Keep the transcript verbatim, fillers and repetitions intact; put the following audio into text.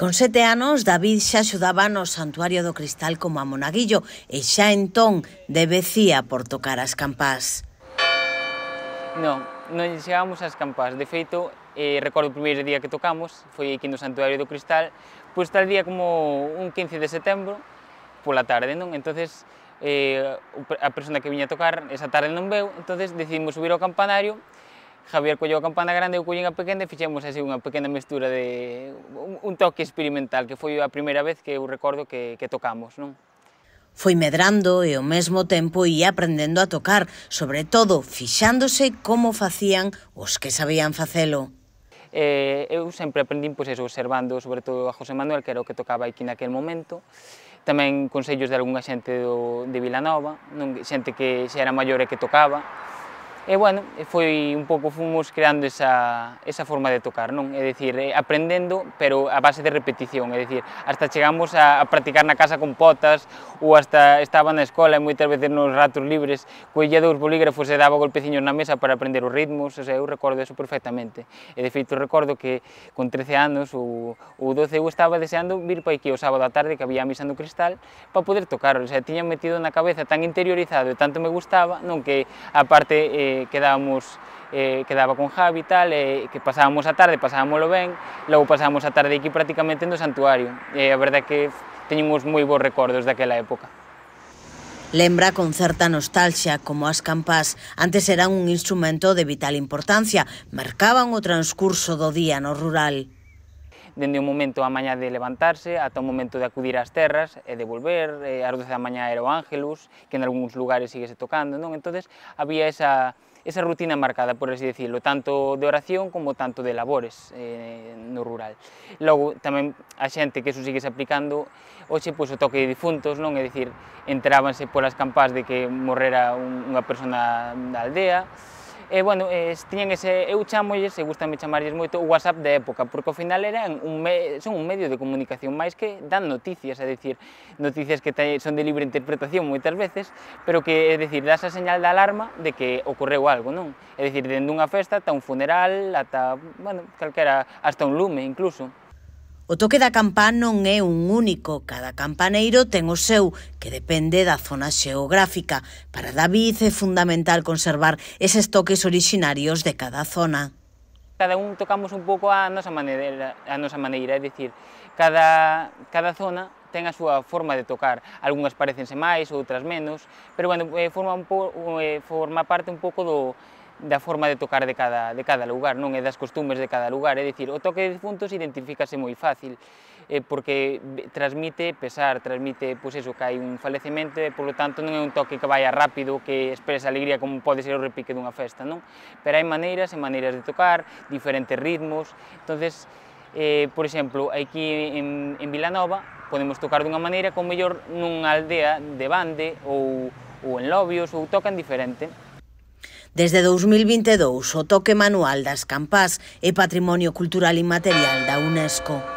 Con sete anos, David xa axudaba no Santuario do Cristal como a monaguillo e xa entón debecía por tocar as campás. Non, non chegábamos ás campás. De feito, eh, recordo o primeiro día que tocamos, foi aquí no Santuario do Cristal, pois tal día como un quince de setembro, pola tarde, non? Entonces, eh, a persona que viña a tocar esa tarde non veu, entonces decidimos subir ao campanario. Javier colleu a campana grande, eu collín a pequena e fixemos así unha pequena mestura de un, un toque experimental, que foi a primeira vez que eu recordo que, que tocamos, non? Foi medrando e ao mesmo tempo ia aprendendo a tocar, sobre todo fixándose como facían os que sabían facelo. Eh, eu sempre aprendín, pois eso, observando sobre todo a José Manuel, que era o que tocaba aquí naquel momento, tamén consellos de algunha xente do, de Vilanova, non, xente que xa era maior e que tocaba. E, bueno, foi un pouco, fomos creando esa, esa forma de tocar, non? É dicir, aprendendo, pero a base de repetición, é dicir, hasta chegamos a, a practicar na casa con potas, ou hasta estaba na escola e moitas veces nos ratos libres, collía dous bolígrafos e daba golpeciños na mesa para aprender os ritmos, o sea, eu recordo eso perfectamente. E, de feito, recordo que con trece anos ou, ou doce eu estaba deseando vir para aquí o sábado á tarde, que había a misa no Cristal, para poder tocar, o sea, tiña metido na cabeza tan interiorizado e tanto me gustaba, non, que a parte eh, quedábamos, eh, quedaba con Javi e tal, e que pasábamos a tarde, pasábamoslo ben, logo pasábamos a tarde aquí prácticamente no santuario, e a verdade é que teñemos moi bons recordos daquela época. Lembra con certa nostalgia como as campás antes eran un instrumento de vital importancia, marcaban o transcurso do día no rural. Dende o momento a mañá de levantarse ata o momento de acudir ás terras e de volver, e ás doce da mañá era o Ángelus, que en algúns lugares síguese tocando, non? Entonces había esa, esa rutina marcada, por así decirlo, tanto de oración como tanto de labores eh, no rural. Logo, tamén a xente que eso siguese aplicando, hoxe, pois, o toque de difuntos, non? É dicir, enterábanse polas campás de que morrera un, unha persona da aldea. E, bueno, eh, tiñan ese, eu chamolles, e gustame chamarlles moito, o WhatsApp da época, porque ao final eran un me, son un medio de comunicación máis que dan noticias, é dicir, noticias que te, son de libre interpretación moitas veces, pero que, é dicir, das a señal de alarma de que ocorreu algo, non? É dicir, dende unha festa ata un funeral, ata, bueno, calquera, hasta un lume, incluso. O toque da campá non é un único, cada campaneiro ten o seu, que depende da zona xeográfica. Para David é fundamental conservar eses toques orixinarios de cada zona. Cada un tocamos un pouco a nosa maneira, a nosa maneira, é dicir, cada, cada zona ten a súa forma de tocar, algunhas parecense máis, outras menos, pero, bueno, forma, un po, forma parte un pouco do da forma de tocar de cada, de cada lugar, non? E das costumes de cada lugar, é dicir, o toque de difuntos identifícase moi fácil, eh, porque transmite pesar, transmite, pois eso, que hai un falecemento, e, polo tanto, non é un toque que vaya rápido, que expresa alegría como pode ser o repique dunha festa, non? Pero hai maneiras e maneiras de tocar, diferentes ritmos, entonces, eh, por exemplo, aquí en, en Vilanova podemos tocar dunha maneira como mellor nunha aldea de Bande ou, ou en Lobios, ou tocan diferente. Desde dous mil vinte e dous, o toque manual das campás é Patrimonio Cultural Inmaterial da UNESCO.